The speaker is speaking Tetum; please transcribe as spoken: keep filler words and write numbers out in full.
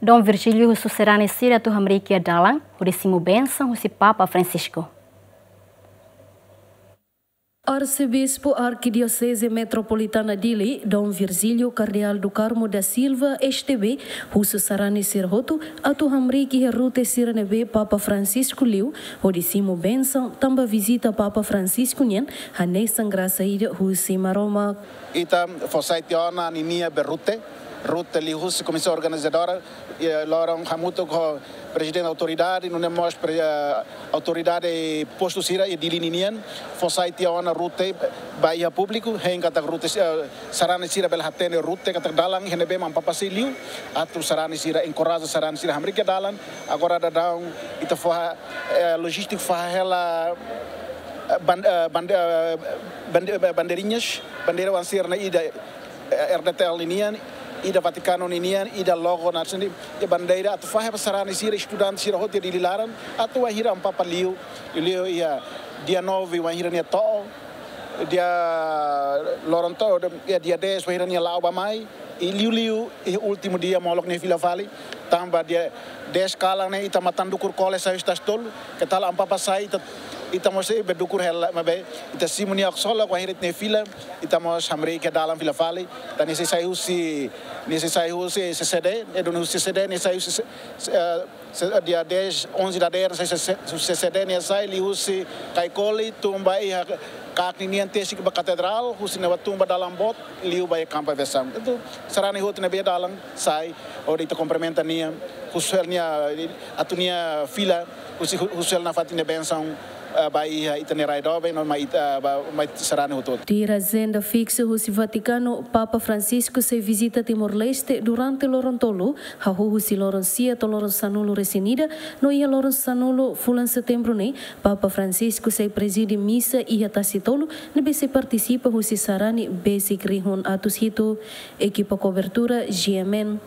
Dom Virgílio husu sarani sira atu hamriik iha dalan, hodi simu bensaun husi Papa Francisco. Arsebispu Arkidioseze Metropolitana Dili, Dom Virgílio Cardeal do Carmo da Silva, S T B, husu sarani sira hotu atu hamriik iha rute sira ne'ebé Papa Francisco liu, hodi simu bensaun tanba vizita Papa Francisco nian hanesan grasa ida husi Maromak. Ita fó sai tiha ona ninia be rute, rute liuhusi komisaun organizadora, eh, loron hamutuk ho prezidente autoridade, nune'e mós pre-, eh, autoridade postu sira iha Dili ninian, fó sai tiha ona rute ba iha públiku, hein katak rute, eh, sarani sira bele hatene rute katak dalan iha ne'ebé mak Papa sei liu, atu sarani sira enkoraja sarani sira hamriik iha dalan. Agora daudaun ita fó, eh, lojístiku fó hela, eh, ban-, eh, bande-, eh, bande-, eh, bandeirinhas, bandeira oan sira-ne'e ida, eh, R D T L ninian, ida Vatikanu ninian, ida logo nasionál, i bandeira atu fahe ba sarani sira, estudante sira hotu iha Dili laran, atu wainhira Amu Papa liu, liu iha dia nove wainhira nia to'o, dia loron to'o, iha dia dez wainhira nia la'o bá-mai, i liuliu iha últimu dia molok nia fila fali, tanba dia dez kalan ne'e ita matan dukur kole sai husi Tasi Tolu, ke tal Amu Papa sai ita, ita mós sei be dukur hela, maibé ita simu nia ksolok wainhira ita-nia fila, ita mós hamriik iha dalan fila fali, tan nia sei sai husi, nia sei sai husi C C D, e duni husi C C D, nia sai husi, se-, se-, eh, se-, dia dez, onze dadeer, sai C C, husi C C D, nia sai liuhusi Caicoli, tun ba iha Cac ninian tesik ba Katedrál, husi ne'ebá tun ba dalan boot, liu ba iha Campo Aviação. Entaun, sarani hotu ne'ebé iha dalan, sai, hodi ita kumprimenta nia, husu hela nia, atu nia fila, husi, husu hela nafatin nia bensaun, eh, ba iha ita-nia rai doben, no mai ita, ba, mai sarani hotu. Tuir ajenda fiksu husi Vatikanu, Papa Francisco sei vizita Timor-Leste durante loron tolu, hahú husi loron sia to'o loron sanulu-resin-ida, no iha loron sanulu fulan Setembru ne'e, Papa Francisco sei prezide misa iha Tasi Tolu, ne'ebé sei partisipa husi sarani besik rihun atus hitu. Ekipa kobertura, G M N.